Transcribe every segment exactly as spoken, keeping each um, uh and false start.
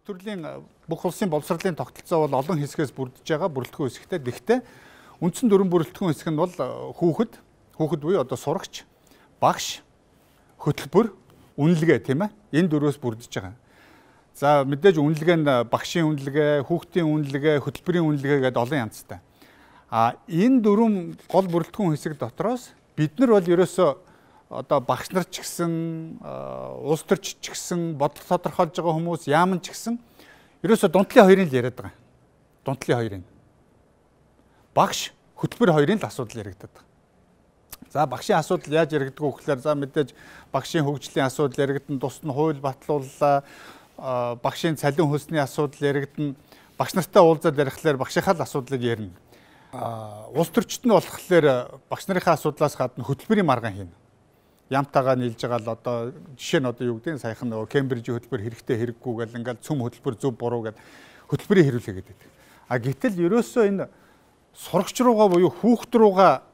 бүх төрлийн бүх улсын боловсролын тогтолцоо бол олон хэсгээс бүрдэж байгаа бүрэлдэхүүн хэсэгтэй. Гэхдээ үндсэн дүрэн бүрэлдэхүүн хэсэг нь бол хүүхэд, хүүхэд буюу одоо сурагч, багш, хөтөлбөр, үнэлгээ тийм ээ. Энэ дөрвөөс бүрдэж байгаа. За мэдээж үнэлгээ нь багшийн үнэлгээ, хүүхдийн үнэлгээ, хөтөлбөрийн үнэлгээ гэдэг олон янзтай. А энэ дөрвөн гол бүрэлдэхүүн хэсэг дотроос бид нар бол ерөөсөө одоо багш нар ч гэсэн, улс төрч ч гэсэн, бодлого тодорхойлж байгаа хүмүүс яамн ч гэсэн ерөөсөө дунтлын хоёрын л яриад байгаа. Дунтлын хоёрын. Багш, хөтөлбөр хоёрын л асуудал яригдаад байгаа. За багшийн асуудал яаж яригддаг вэ гэхээр за мэдээж багшийн хөгжлийн асуудал яригдана, тусна хууль батлууллаа, багшийн цалин хөлсний асуудал яригдана, багш нартай уулзаад ярихлаар багшийнхаа л асуудлыг ярина. Улс төрчид нь болохоор багш нарынхаа асуудлаас гадна хөтөлбөрийн маргаан хийнэ. Ямтайгаа нийлж байгаа л одоо жишээ нь одоо юу гэдэг нь саяхан нөгөө Кембрижийн хөтөлбөр хэрэгтэй хэрэггүй гэл ингээл цөм хөтөлбөр зөв буруу гэд хөтөлбөрийн хэрүүлээ гэдэг. А гэтэл ерөөсөө энэ сурагч руугаа буюу хүүхд руугаа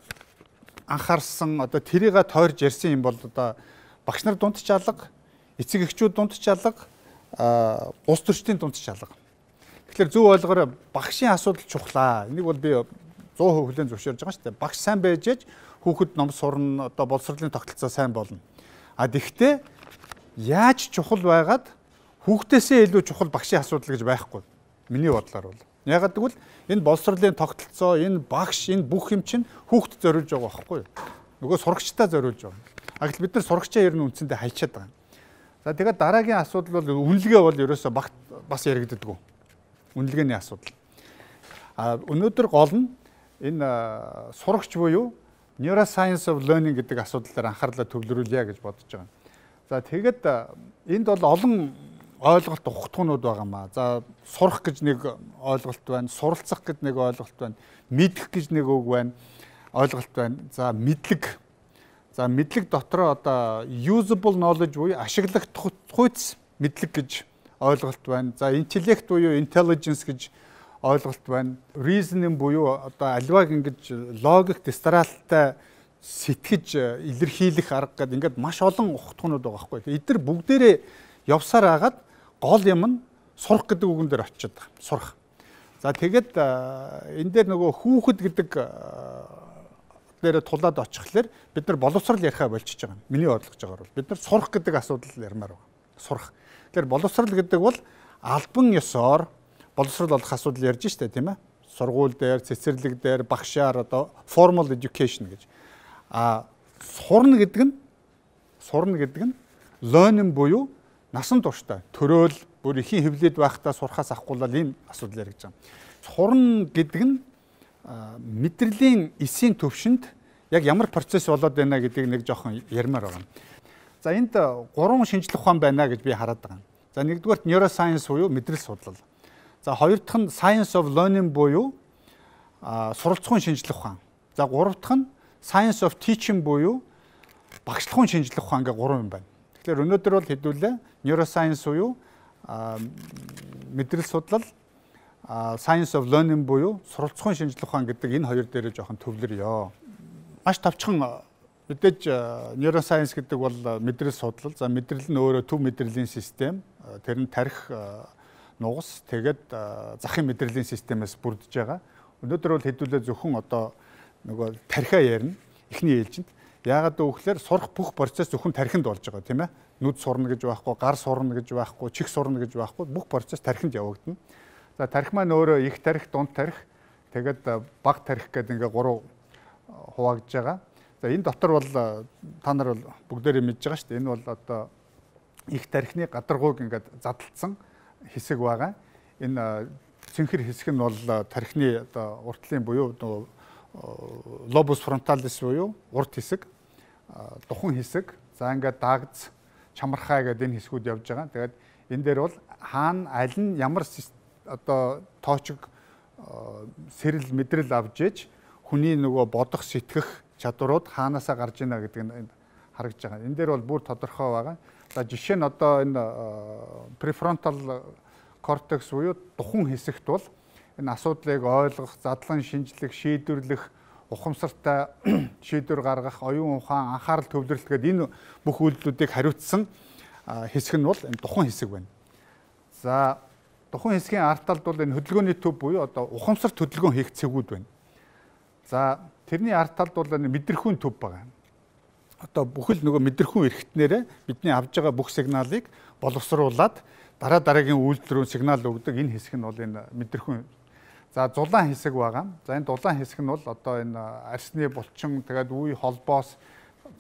анхаарсан одоо тэрийгэ тойрж ярьсан юм бол одоо багш нар дунд ч алга, эцэг эхчүүд дунд ч алга, улс төрчдийн дунд ч алга. Тэгэхээр зөв ойлгоорой, багшийн асуудал чухлаа. Энийг бол би сто процент хүлээн зөвшөөрж байгаа шүү дээ. Багш сайн байж ээж хүүхэд ном сурна, одоо боловсролын тогтолцоо сайн болно. А тэгвэл яаж чухал байгаад хүүхдээсээ илүү чухал багшийн асуудал гэж байхгүй. Миний бодлоор бол. Ягаад гэвэл энэ боловсролын тогтолцоо, энэ багш, энэ бүх юм чинь хүүхдэд зориулж байгаа байхгүй юу? Нөгөө сурагчдаа зориулж байгаа. А гэтэл бид нар сурагчаа ер нь үндсэндээ хайчаад байгаа. За тэгээд дараагийн асуудал бол үнэлгээ бол ерөөсөө багт бас яригддаг. Үнэлгээний асуудал. А өнөөдөр гол нь энэ сурагч буюу Neuroscience of Learning гэдэг асуудлаар анхаарлаа төвлөрүүлье гэж бодож байгаа. За тэгээд энд бол олон ойлголт ухтгуунууд байгаамаа. За сурах гэж нэг ойлголт байна, суралцах гэж нэг ойлголт байна, мэдэх гэж нэг үг байна, ойлголт байна. За мэдлэг. За мэдлэг дотроо одоо usable knowledge буюу ашиглагдах хүйц мэдлэг гэж ойлголт байна. За интеллект буюу intelligence гэж ойлголт байна. Reasoning буюу одоо альвааг ингэж логик дистралтай сэтгэж илэрхийлэх арга гэдэг ингээд маш олон ухтгуунууд байгаа байхгүй. Эдгээр бүгдээрээ явсаар агаад гол юм нь сурах гэдэг үгэн дээр очиод байгаа. Сурах. За тэгээд энэ дээр нөгөө хүүхэд гэдэг дээр тулаад очихлаар бид нар боловсрал ярихаа болчихж байгаа. Миний бодлогож байгаагаар бол бид нар сурах гэдэг асуудал ярмаар байгаа. Сурах. Тэгэхээр боловсрал гэдэг бол албан ёсоор боловсрал олох асуудал ярьж штэ тийм ээ. Сургууль дээр, цэцэрлэг дээр, багшаар одоо formal education гэж. А сурна гэдэг нь сурна гэдэг нь learning буюу насан туршдаа төрөөл бүр ихийн хөвлөд байхдаа сурахаас авахгүй л энэ асуудал яригдж байгаа. Сурна гэдэг нь мэдрэлийн эсийн төвшөнд яг ямар процесс болоод байна гэдгийг нэг жоохон ярмаар байгаа. За энд гурван шинжлэх ухаан байна гэж би хараад байгаа. За нэгдүгээр neuroscience буюу мэдрэл судлал. За хоёр дахь нь science of learning буюу суралцахуйн шинжлэх ухаан. За гурав дахь нь science of teaching буюу багшлахуйн шинжлэх ухаан гэх гурван юм байна. Тэгэхээр өнөөдөр бол хэдүүлээ neuroscience буюу мэдрэл судлал, science of learning буюу суралцахуйн шинжлэх ухаан гэдэг энэ хоёр дээрээ жоохон төвлөрье. Маш тавчхан мэдээж neuroscience гэдэг бол мэдрэл судлал. За мэдрэл нь өөрөө төв мэдрэлийн систем. Тэр нь тарих нугас тэгээд захын мэдрэлийн системээс бүрдэж байгаа. Өнөөдөр бол хэдүүлээ зөвхөн одоо нөгөө тархиа ярина эхний ээлжинд. Яагаад гэвэл сурах бүх процесс зөвхөн тархинд болж байгаа тийм ээ. Нүд сурна гэж байхгүй, гар сурна гэж байхгүй, чих сурна гэж байхгүй бүх процесс тархинд явагдана. За тархи маань өөрөө их тархи, дунд тархи, тэгээд бага тархи гэдэг ингээ гурав хуваагдж байгаа. За энэ дотор бол та нар бол бүгдээрээ мэдж байгаа шүү дээ. Энэ бол одоо их тархины гадаргууг ингээд задлцсан хэсэг байгаа. Энэ цэнхэр хэсэг нь бол тархины одоо уртлын буюу lobus frontalis буюу урт хэсэг, духан хэсэг. За ингээд дагц, чамархай гэдэг энэ хэсгүүд явж байгаа. Тэгээд энэ дээр бол хаана аль нь ямар одоо тоочг сэрэл мэдрэл авж ээж хүний нөгөө бодох сэтгэх чадварууд хаанаасаа гарч ийна гэдэг нь харагдж байгаа. Энэ дээр бол бүр тодорхой байгаа. За жишээ нь одоо энэ prefrontal cortex буюу духан хэсэгт бол энэ асуудлыг ойлгох, задлан шинжлэх, шийдвэрлэх, ухамсартай шийдвэр гаргах, оюун ухаан, анхаарал төвлөрөлт гэдэг энэ бүх үйлдэлүүдийг хариуцсан хэсэг нь бол энэ духан хэсэг байна. За тухайн хэсгийн арт талд бол энэ хөдөлгөөний төв буюу одоо ухамсарт хөдөлгөөн хийх цэгүүд байна. За тэрний арт талд бол энэ мэдрэхүйн төв байгаа. Одоо бүхэл нөгөө мэдрэхүйн эрхтнээрээ бидний авж байгаа бүх сигналыг боловсруулад дараа дараагийн үйлдэл рүү сигнал өгдөг энэ хэсэг нь бол энэ мэдрэхүйн. За зулаан хэсэг байгаа. За энэ дулаан хэсэг нь бол одоо энэ арсны булчин тэгээд үе холбоос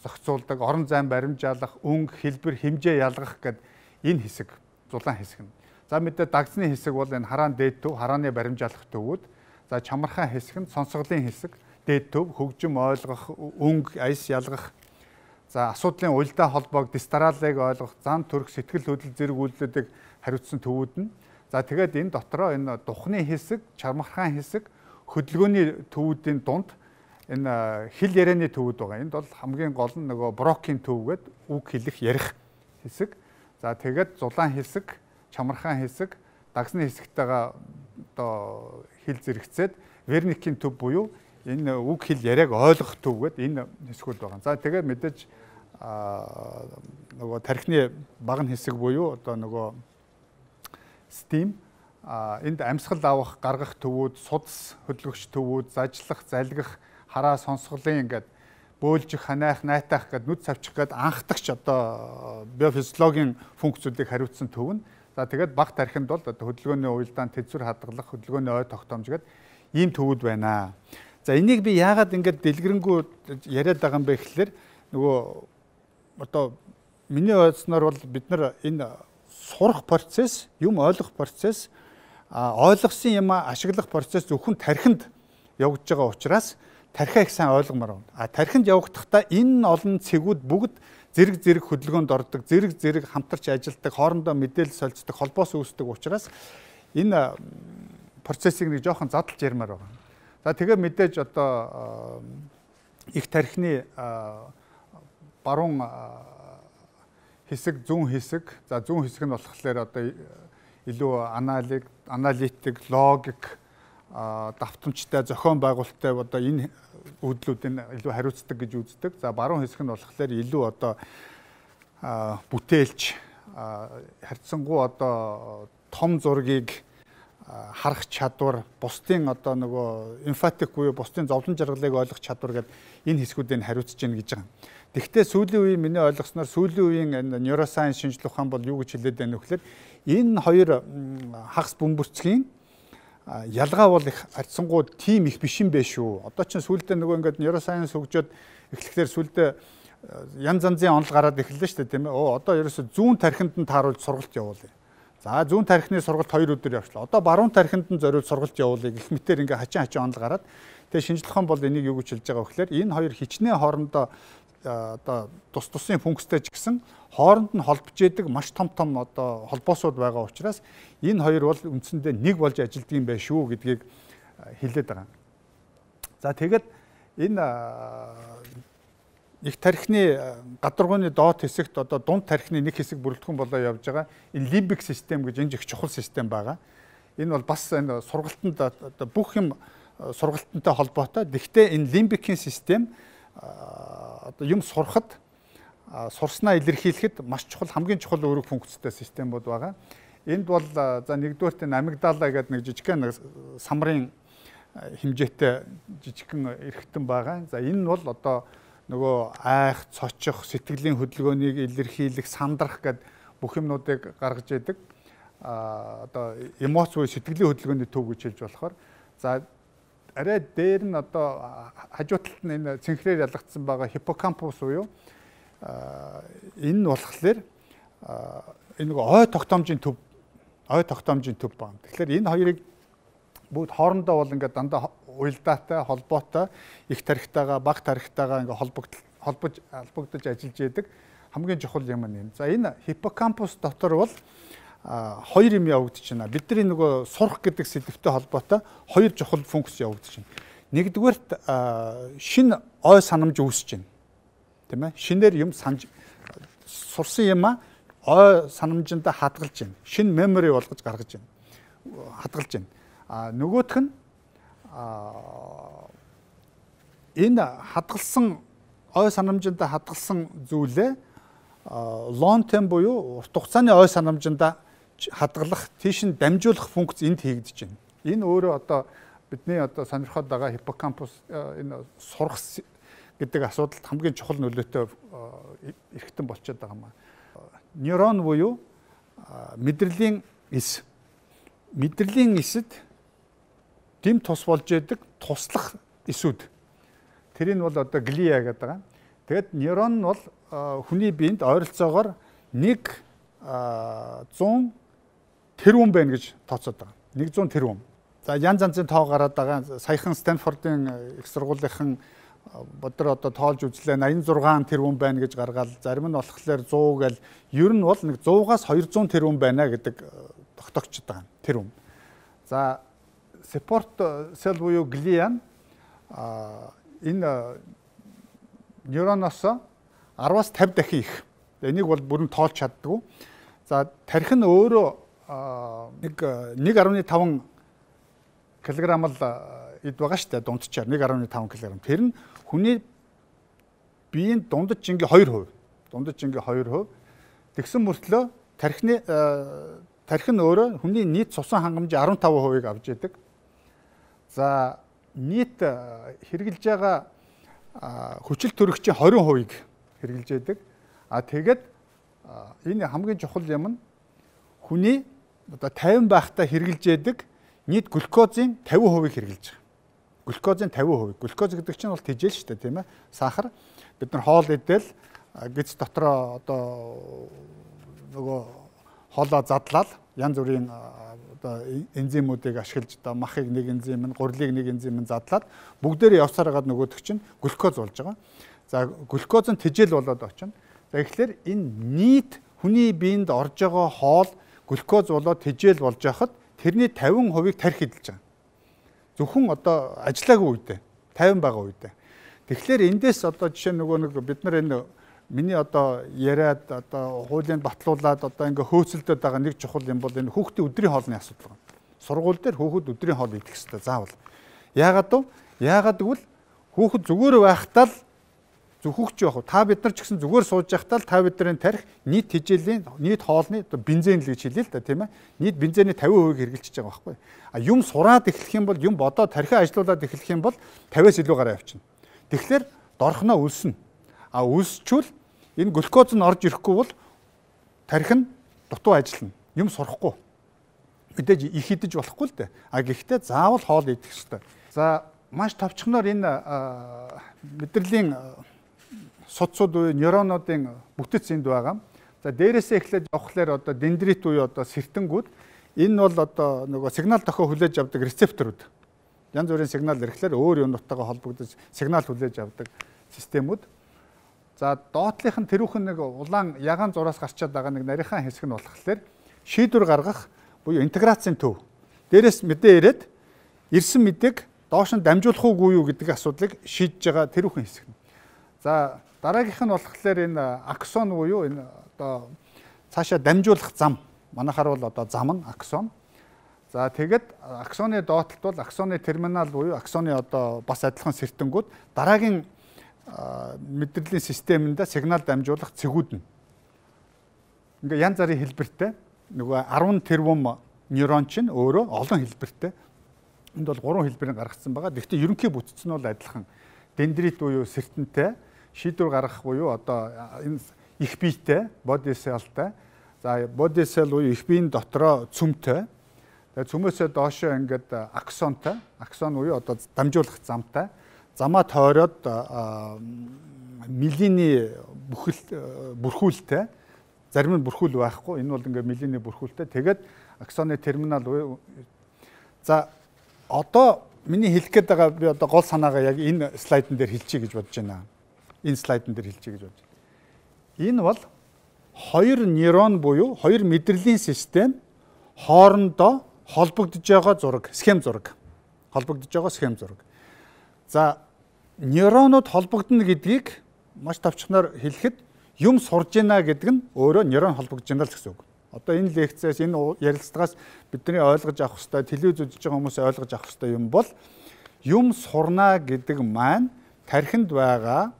зохицуулдаг, орон зайн баримжаалах, өнгө, хэлбэр, хэмжээ ялгах гэдэг энэ хэсэг зулаан хэсэг нь. За мэдээ дагцны хэсэг бол энэ хараан дээд төв, харааны баримжаалах төвүүд. За чамархан хэсэг нь сонсголын хэсэг, дээд төв, хөгжим ойлгох, өнгө, аяс ялгах. За асуудлын уялдаа холбоог, дистралыг ойлгох, зам төрх, сэтгэл хөдлөл зэрэг үйлдэлүүдийг хариуцсан төвүүд нь. За тэгээд энэ дотроо энэ духны хэсэг, чармархан хэсэг, хөдөлгөөний төвүүдийн дунд энэ хэл ярианы төвүүд байгаа. Энд бол хамгийн гол нь нөгөө брокийн төв гэдэг үг хэлэх ярих хэсэг. За тэгээд зулаан хэсэг, чамархан хэсэг, дагсны хэсэгтэйгээ одоо хэл зэрэгцээд верникийн төв буюу энэ үг хэл яриаг ойлгох төв гэдэг энэ хэсгүүд байгаа. За тэгээд мэдээж нөгөө тархины багн хэсэг буюу одоо нөгөө STEAM энд амьсгал авах, гаргах төвүүд, судас хөдөлгөгч төвүүд, зажлах, залгих, хараа сонсголын ингээд бөөлжих, ханаах, найтах гэдэг нүд савчих гэдэг анхдагч одоо биофизиологийн функцүүдийг хариуцсан төв нь. За тэгээд баг тархинд бол одоо хөдөлгөөний уялдаан, тэзвэр хадгалах, хөдөлгөөний ой тогтоомж гэдэг ийм төвүүд байна. За энийг би яагаад ингээд дэлгэрэнгүй яриад байгаа юм бэ гэхэлэр нөгөө одоо миний ойлгосноор бол бид нар энэ сурах процесс, юм ойлгох процесс, ойлгосон юм ашиглах процесс зөвхөн тархинд явагдаж байгаа учраас тархиа их сайн ойлгомоор байна. А тархинд явагдахдаа энэ олон цэгүүд бүгд зэрэг зэрэг хөдөлгөөнд ордог, зэрэг зэрэг хамтарч ажилладаг, хоорондоо мэдээлэл солилцдог, холбоос үүсдэг учраас энэ процессыг нэг жоохон задлж ярмаар байгаа. За тэгээ мэдээж одоо их тархины баруун хэсэг, зүүн хэсэг. За зүүн хэсэг нь болохоор одоо илүү аналитик, аналитик, логик, давтамжтай, зохион байгуулалттай одоо энэ үүдлүүдийн илүү хариуцдаг гэж үздэг. За баруун хэсэг нь болохоор илүү одоо бүтээлч, харьцангуй одоо том зургийг харах чадвар, бусдын одоо нөгөө эмфатик буюу бусдын зовлон жаргалыг ойлгох чадвар гэдэг энэ хэсгүүдийг хариуцж гин гэж байгаа. Тэгэхдээ сүүлийн үеийн миний ойлгосноор сүүлийн үеийн энэ нейросайенс шинжилгээ ухаан бол юу гэж хэлээд байна вэ гэхээр энэ хоёр хагас бөмбөрцгийн ялгаа бол их харьцангуй тийм их биш юм бэ шүү. Одоо чинь сүүлдээ нөгөө ингээд нейросайенс хөгжөөд эхлэхээр сүүлдээ янз янзын онол гараад эхэллээ шүү дээ, тийм ээ. Оо одоо ерөөсө зүүн тархинд нь тааруулж сургалт явуулъя. За зүүн тархины сургалт хоёр өдөр явчлаа. Одоо баруун тархинд нь зориулж сургалт явуулъя гэх мэтээр ингээ хачин хачин онол гараад тэгээ шинжилгээ ухаан бол энийг юу гэж хэлж байгаа вэ гэхээр энэ хоёр хичнээн хоорондоо одоо тус тусын функцтэй ч гэсэн хооронд нь холбож идэг маш том том одоо холбоосууд байгаа учраас энэ хоёр бол үндсэндээ нэг болж ажилладаг юм байна шүү гэдгийг хэлээд байгаа. За тэгээд энэ их тархины гадаргууны доод хэсэгт одоо дунд тархины нэг хэсэг бүрэлдэхүүн болоо явж байгаа энэ лимбик систем гэж энэ их чухал систем байгаа. Энэ бол бас энэ сургалтанд одоо бүх юм сургалтантай холбоотой. Гэхдээ энэ лимбикийн систем одоо юм сурахад сурснаа илэрхийлэхэд маш чухал, хамгийн чухал үүрэг функцтэй системүүд байгаа. Энд бол за нэгдүгээрт энэ амигдала гэдэг нэг жижигхэн самрын хэмжээтэй жижигхэн эрхтэн байгаа. За энэ нь бол одоо нөгөө айх, цочих, сэтгэлийн хөдөлгөөнийг илэрхийлэх, сандрах гэдэг бүх юмнуудыг гаргаж идэг. А одоо эмоц буюу сэтгэлийн хөдөлгөөний төв гэж хэлж болохоор за арай дээр нь одоо хажуу талд нь энэ цэнхрээр ялгагдсан байгаа хиппокампус буюу энэ нь болохоор энэ нэг ой тогтоомжийн төв, ой тогтоомжийн төв байна. Тэгэхээр энэ хоёрыг бүгд хоорондоо бол ингээд дандаа уялдаатай, холбоотой, их тархитайгаа, бага тархитайгаа ингээд холбогдол холбож холбогдож ажиллаж яадаг хамгийн чухал юм нь. За энэ хиппокампус дотор бол хоёр юм явагдаж байна. Бидний нөгөө сурах гэдэг сэдвтэй холбоотой хоёр чухал функц явагдаж байна. Нэгдүгээрт шинэ ой санамж үүсэж байна. Тийм ээ? Шинээр юм санаж сурсан юм а ой санамжиндаа хадгалж байна. Шинэ мемори болгож гаргаж байна. Хадгалж байна. А нөгөөх нь энэ хадгалсан ой санамжиндаа хадгалсан зүйлээ long term буюу урт хугацааны ой санамжиндаа хадгалах, тийш нь дамжуулах функц энд хийгдэж байна. Энэ өөрөө одоо бидний одоо сонирхоод байгаа хиппокампус энэ сурах гэдэг асуудалд хамгийн чухал нөлөөтэй эрхтэн болчиход байгаа юм аа. Нейрон буюу мэдрэлийн эс. Мэдрэлийн эсэд дэм тус болж яадаг туслах эсүүд. Тэр нь бол одоо глиа гэдэг байгаа. Тэгэд нейрон нь бол хүний биед ойролцоогоор нэг зуун тэрбум байна гэж тооцоод байгаа. нэг зуун тэрбум. За янз янзын тоо гараад байгаа. Саяхан Стэнфордын их сургуулийн бодор одоо тоолж үзлээ аян зургаан тэрбум байна гэж гаргаад зарим нь болохоор сто гэл ер нь бол нэг сто-аас двести тэрбум байна гэдэг тогтоогчд байгаа тэрбум. За support cell буюу глиа энэ нейроноос араас тавьд дахин их. Энийг бол бүрэн тоолж чаддгүй. За тарих нь өөрөө нэг нэг гаруй таван килограмм л эд байгаа шүү дээ дундчаар нэг гаруй таван килограмм. Тэр нь хүний биеийн дундаж ингээ хоёр хувь. Дундаж ингээ хоёр хувь. Тэгсэн мөртлөө тархины тарих нь өөрөө хүний нийт цусан хангамжийн арван таван хувийг авч яадаг. За нийт хэрэгжилж байгаа хүчил төрөгчийн двадцать хувийг хэрэгжилж яадаг. А тэгээд энэ хамгийн чухал юм нь хүний одоо тавин байхдаа хэрэгжилж яадаг нийт глюкозын пятьдесят хувийг хэрэгжилж байгаа. Глюкозын пятьдесят хувийг. Глюкоз гэдэг чинь бол тэжээл шүү дээ, тийм ээ. Сахар. Бид нар хоол идэл гиз дотроо одоо нөгөө хоолоо задлаад янз бүрийн одоо энзимүүдийг ашиглаж одоо махыг нэг энзим, гурилыг нэг энзим задлаад бүгдээрээ явсаар хагаад нөгөөдөг чинь глюкоз болж байгаа. За глюкоз нь тэжээл болоод очино. За тэгэхээр энэ нийт хүний биед орж байгаа хоол глюкоз болоод тэжээл болж байхад тэрний пятьдесят хувийг тарих эдэлж байгаа. Зөвхөн одоо ажиллаагүй үедээ тавин байгаа үедээ. Тэгэхээр эндээс одоо жишээ нөгөө нэг бид нар энэ миний одоо яриад одоо хуулийн батлуулаад одоо ингээ хөөцөлдөд байгаа нэг чухал юм бол энэ хүүхдийн өдрийн хоолны асуудал байна. Сургууль дээр хүүхэд өдрийн хоол идэх хэрэгтэй заавал. Яагаад вэ? Яагаад гэвэл хүүхэд зүгээр байхдаа л зөвхөгч явах. Та бид нар ч гэсэн зүгээр сууж байхдаа л та бидний тарих нийт тэжээлийн нийт хоолны одоо бензин л гэж хэлээ л да тийм ээ. Нийт бензиний пятьдесят хувийг хэрэгжилж байгаа байхгүй. А юм сураад эхлэх юм бол юм бодоод тархиа ажилуулад эхлэх юм бол пятьдесят-аас илүү гараа явчихна. Тэгэхээр дорхноо өлснө. А өлсчүүл энэ глюкоз нь орж ирэхгүй бол тархи нь дутуу ажиллана. Юм сурахгүй. Мэдээж их идэж болохгүй л дээ. А гэхдээ заавал хоол идэх хэрэгтэй. За маш товчхоноор энэ мэдрэлийн судсууд буюу нейронуудын бүтэц энд байгаа. За дээрээсээ эхлээд явахлаар одоо дендрит буюу одоо сэртэнгүүд энэ бол одоо нөгөө сигнал дохио хүлээж авдаг рецепторууд. Янз бүрийн сигнал ирэхлээр өөр юунуудтайгаа холбогдож сигнал хүлээж авдаг системүүд. За доотлынх нь тэрүүхэн нэг улаан ягаан зураас гарчаад байгаа нэг нарийнхан хэсэг нь болохоор шийдвэр гаргах буюу интеграцийн төв. Дээрээс мэдээ ирээд ирсэн мэдээг доош нь дамжуулах уугүй юу гэдэг асуудлыг шийдэж байгаа тэрүүхэн хэсэг. За дараагийнх нь болохоор энэ аксон буюу энэ одоо цаашаа дамжуулах зам. Манайхаар бол одоо зам нь аксон. За тэгээд аксоны доотлолт бол аксоны терминал буюу аксоны одоо бас адилхан сэртэнгүүд дараагийн мэдрэлийн системэнд сигнал дамжуулах цэгүүд нь. Ингээ янз бүрийн хэлбэртэй нөгөө арван тэрбум нейрон чинь өөрөө олон хэлбэртэй. Энд бол гурван хэлбэрийг гаргацсан байгаа. Гэхдээ ерөнхий бүтц нь бол адилхан. Дендрит буюу сэртэнтэй, шийдвэр гаргах буюу одоо энэ их биетэй, body cell-тай. За body cell буюу их биеийн дотроо цөмтэй. Тэгээ цөмөөсөө доошоо ингээд аксонтой. Аксон буюу одоо дамжуулах замтай. Замаа тойроод милийн бүхэл бүрхүүлтэй. Зарим нь бүрхүүл байхгүй. Энэ бол ингээд милийн бүрхүүлтэй. Тэгээд аксоны терминал буюу за одоо миний хэлэх гээд байгаа би одоо гол санаагаа яг энэ слайдн дээр хэлчихье гэж бодож байна. Энэ слайдн дээр хэлчихье гэж бодож байна. Энэ бол хоёр нейрон буюу хоёр мэдрэлийн систем хоорондоо холбогдож байгаа зураг, схем зураг. Холбогдож байгаа схем зураг. За нейронууд холбогдно гэдгийг маш товчхоноор хэлэхэд юм сурж байна гэдэг нь өөрөө нейрон холбогдож байна л гэсэн үг. Одоо энэ лекцээс энэ ярилцлагаас бидний ойлгож авах хэрэгтэй, телевиз үзэж байгаа хүмүүс ойлгож авах хэрэгтэй юм бол юм сурна гэдэг маань тархинд байгаа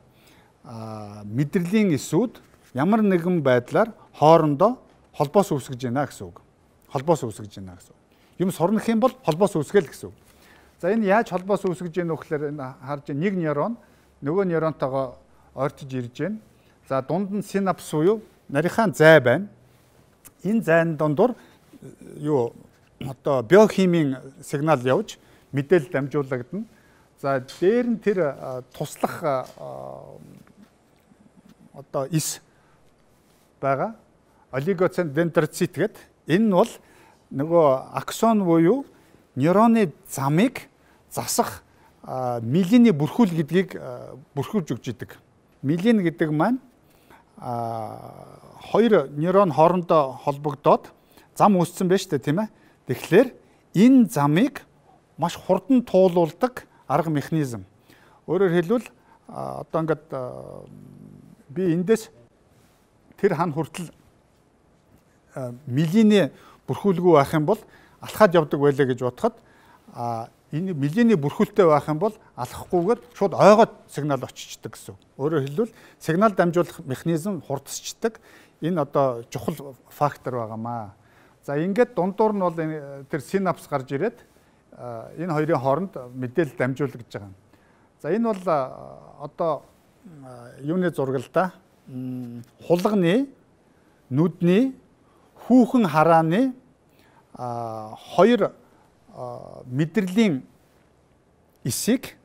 мэдрэлийн эсүүд ямар нэгэн байдлаар хоорондоо холбоос үүсгэж байна гэсэн үг. холбоос үүсгэж байна гэсэн. Юм сурнах юм бол холбоос үүсгээл гэсэн. За энэ яаж холбоос үүсгэж байна вэ гэхээр энэ харж нэг нейрон нөгөө нейронтойгоо ойртож ирж байна. За дунд нь синапс буюу нарийнхаа зай байна. Энэ зайн дундуур юу одоо биохимийн сигнал явж мэдээлэл дамжуулагдана. За дээр нь тэр туслах одоо ис байгаа. Олигоцендрицит гэдэг. Энэ нь бол нөгөө аксон буюу нейроны замыг засах миелины бүрхүүл гэдгийг бүрхүүлж өгч идэг. Миелин гэдэг маань хоёр нейрон хоорондоо холбогдоод зам үүссэн байна шүү дээ, тийм ээ. Тэгэхээр энэ замыг маш хурдан туулуулдаг арга механизм. Өөрөөр хэлбэл одоо ингээд би эндээс тэр хан хүртэл миелины бүрхүүлгүй байх юм бол алхаад явдаг байлаа гэж бодоход энэ миелины бүрхүүлтэй байх юм бол алхахгүйгээр шууд ойгоод сигнал очичдаг гэсэн. Өөрөөр хэлбэл сигнал дамжуулах механизм хурдсчдаг. Энэ одоо чухал фактор байгаамаа. За ингээд дундуур нь бол тэр синапс гарч ирээд энэ хоёрын хооронд мэдээлэл дамжуулах гэж байгаа. За энэ бол одоо юуны зураг л да. Хулганы, нүдний, хүүхэн харааны хоёр мэдрэлийн эсийг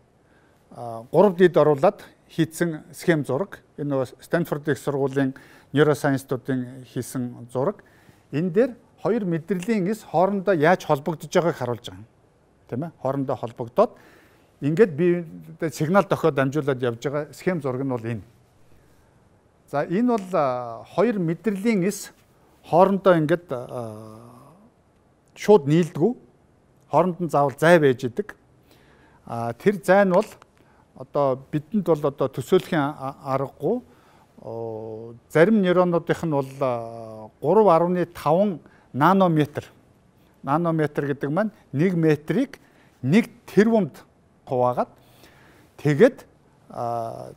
гурав дид оруулаад хийсэн схем зураг. Энэ нөгөө Стэнфорд их сургуулийн нейросайенсдуудын хийсэн зураг. Энэ дээр хоёр мэдрэлийн эс хоорондоо яаж холбогдож байгааг харуулж байгаа юм. Тийм ээ? Хоорондоо холбогдоод ингээд би сигнал дохиод дамжуулаад явж байгаа схем зураг нь бол энэ. За энэ бол хоёр мэдрэлийн эс хоорондоо ингээд шууд нийлдэггүй. Хооронд нь заавал зай байж идэг. А тэр зай нь бол одоо бидэнд бол одоо төсөөлөхийн аргагүй. Зарим нейронуудынх нь бол гурав гаруй таван нанометр. Нанометр гэдэг маань нэг метрийг нэг тэрбумд хуваагаад тэгээд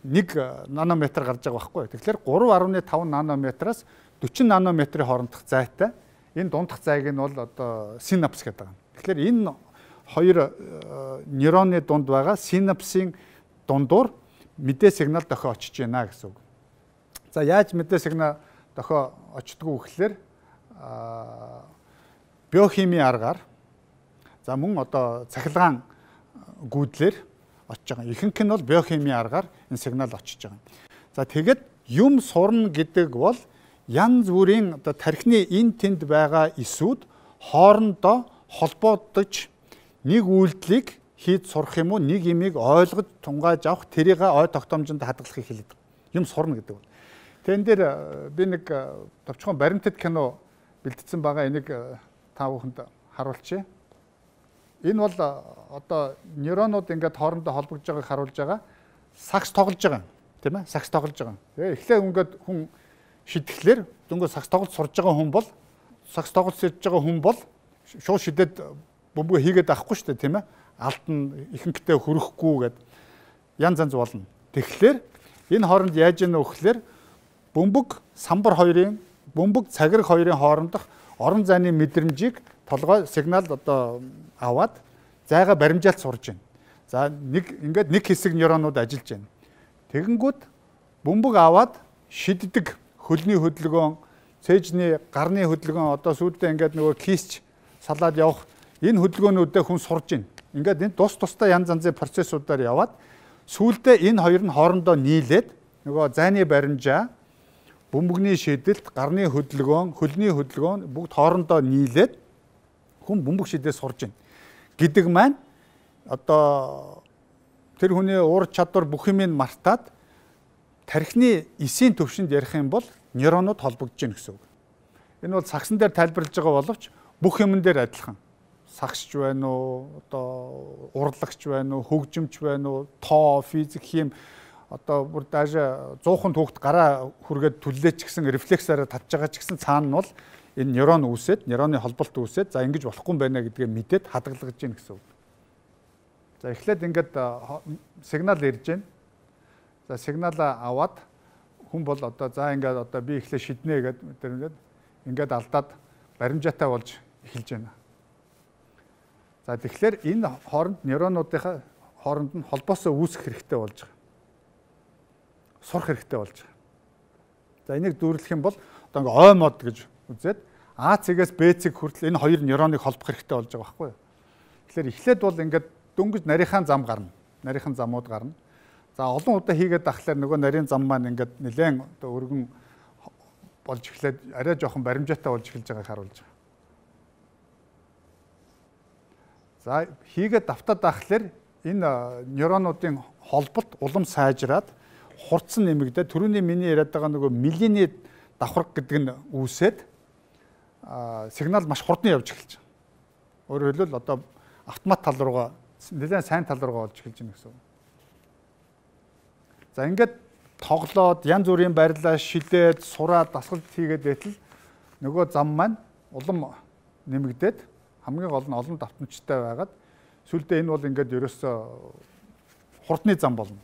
нэг нанометр гарч байгаа байхгүй. Тэгэхээр гурав гаруй таван нанометраас дөрвөн нанометрийн хоорондох зайтай. Энэ дундах зайг нь бол одоо синапс гэдэг юм. Тэгэхээр энэ хоёр нейроны дунд байгаа синапсын дундуур мэдээ сигнал дохио очиж байна гэсэн үг. За яаж мэдээ сигнал дохио очдгоо гэхлээр биохимийн аргаар за мөн одоо цахилгаан гүйдлэр очиж байгаа. Ихэнх нь бол биохимийн аргаар энэ сигнал очиж байгаа. За тэгэд юм сурна гэдэг бол янз бүрийн одоо тархины эн тэнд байгаа эсүүд хоорондоо холбоодож нэг үйлдэлийг хийж сурах юм уу, нэг имийг ойлгож тунгааж авах, тэрийг ой тогтоомжинд хадгалахыг хэлээд байгаа. Юм сурна гэдэг бол. Тэгэн дээр би нэг товчхон баримтат кино бэлдсэн байгаа. Энийг та бүхэнд харуулчих. Энэ бол одоо нейронууд ингээд хоорондоо холбогдож байгааг харуулж байгаа. Сакс тоглож байгаа, тийм ээ? Сакс тоглож байгаа. Тэгээ эхлээ ингээд хүн шидэхлээр дөнгөж сакс тоглож сурж байгаа хүн бол сакс тоглож сурж байгаа хүн бол шууд шидэд бөмбөг хийгээд авахгүй шүү дээ, тийм ээ? Алд нь ихэнхдээ хөрөхгүй гэд янз янз болно. Тэгэхээр энэ хооронд яаж яана вэ гэхээр бөмбөг самбар хоёрын бөмбөг цагираг хоёрын хоорондох орон зайны мэдрэмжийг толгой сигнал одоо аваад зайгаа баримжаалт сурж байна. За нэг ингээд нэг хэсэг нейронууд ажиллаж байна. Тэгэнгүүт бөмбөг аваад шиддэг хөлний хөдөлгөөн, цээжний гарны хөдөлгөөн одоо сүйдээ ингээд нөгөө кисч салаад явах энэ хөдөлгөөнүүдээ хүн сурж байна. Ингээд энэ тус тустай янз янзын процессуудаар яваад сүйдээ энэ хоёр нь хоорондоо нийлээд нөгөө зайны баримжаа, бөмбөгний шидэт, гарны хөдөлгөөн, хөлний хөдөлгөөн бүгд хоорондоо нийлээд хүн бөмбөг шидээ сурж байна. Гэдэг маань одоо тэр хүний уур чадвар бүх юмыг мартаад тархины эсийн төвшөнд ярих юм бол нейронууд холбогдож байна гэсэн үг. Энэ бол сагсан дээр тайлбарлаж байгаа боловч бүх юмн дээр адилхан. Сагсч байна уу, одоо урлагч байна уу, хөгжимч байна уу, тоо, физик, хим одоо бүр даже зуухан түүхт гараа хүргээд түллээч гэсэн рефлексаараа татж байгаа ч гэсэн цаана нь бол энэ нейрон үүсээд, нейроны холболт үүсээд за ингэж болохгүй юм байна гэдгээ мэдээд хадгалгаж гин гэсэн үг. За эхлээд ингээд сигнал ирж байна. За сигналаа аваад хүн бол одоо за ингээд одоо би эхлээ шиднэ гэдэг ингээд ингээд алдаад баримжаатай болж эхэлж байна. За тэгэхээр энэ хооронд нейронуудынхаа хооронд нь холбоосоо үүсэх хэрэгтэй болж байгаа. Сурах хэрэгтэй болж байгаа. За энийг дүүрлэх юм бол одоо ингээ ой мод гэж үзээд А цэгээс Б цэг хүртэл энэ хоёр нейроныг холбох хэрэгтэй болж байгаа байхгүй юу? Тэгэхээр эхлээд бол ингээд дөнгөж нарийнхаа зам гарна. Нарийнхан замууд гарна. За олон удаа хийгээд ахлаар нөгөө нарийн зам маань ингээд нэлээд одоо өргөн болж эхлээд арай жоохон баримжаатай болж эхэлж байгааг харуулж байгаа. За хийгээд давтаад ахлаар энэ нейронуудын холболт улам сайжраад хурц нэмэгдээд түрүүний миний яриад байгаа нөгөө милийн давхарга гэдэг нь үүсээд сигнал маш хурдан явж эхэлж байгаа. Өөрөөр хэлбэл одоо автомат тал руугаа нэлээд сайн тал руугаа болж эхэлж байна гэсэн үг. За ингээд тоглоод янз бүрийн барилаа шилээд сураад дасгалт хийгээд байтал нөгөө зам маань улам нэмэгдээд хамгийн гол нь олон давтамжтай байгаад сүүлдээ энэ бол ингээд ерөөсөө хурдны зам болно.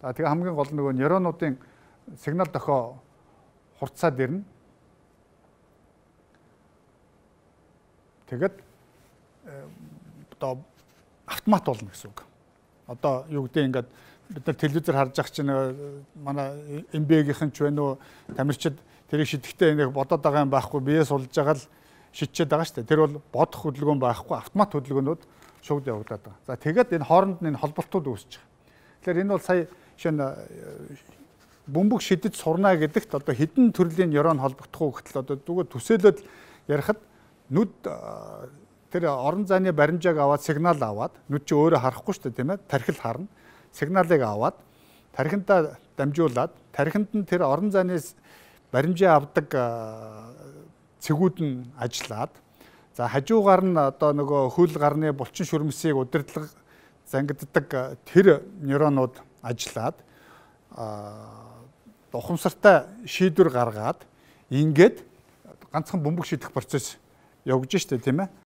За тэгээ хамгийн гол нь нөгөө нейронуудын сигнал дохио хурцаад ирнэ. Тэгээд одоо автомат болно гэсэн үг. Одоо юу гэдэг ингээд бид нар телевизээр харж байгаа чинь манай эм би эй-ийнхэн ч байна уу тамирчид тэрийг шидэхдээ нэг бодоод байгаа юм байхгүй биеэ сулж байгаа л шидчихэд байгаа шүү дээ. Тэр бол бодох хөдөлгөөн байхгүй автомат хөдөлгөөнүүд шууд явагдаад байгаа. За тэгээд энэ хооронд нь энэ холболтууд үүсэж байгаа. Тэгэхээр энэ бол сая шинэ бөмбөг шидэд сурна гэдэгт одоо хэдэн төрлийн нейрон холбогдох уу гэтэл одоо зүгээр төсөөлөд ярихад нүд тэр орон зайны баримжааг аваад сигнал аваад нүд чи өөрөө харахгүй шүү дээ тийм ээ тархил харна сигналыг аваад тархинтаа дамжуулаад тархинд нь тэр орон зайны баримжаа авдаг цэгүүд нь ажиллаад за хажуугаар нь одоо нөгөө хөл гарны булчин шүрмсийг удирдлага зангиддаг тэр нейронууд ажиллаад ухамсартай шийдвэр гаргаад ингээд ганцхан бөмбөг шийдэх процесс явж штэ тийм ээ.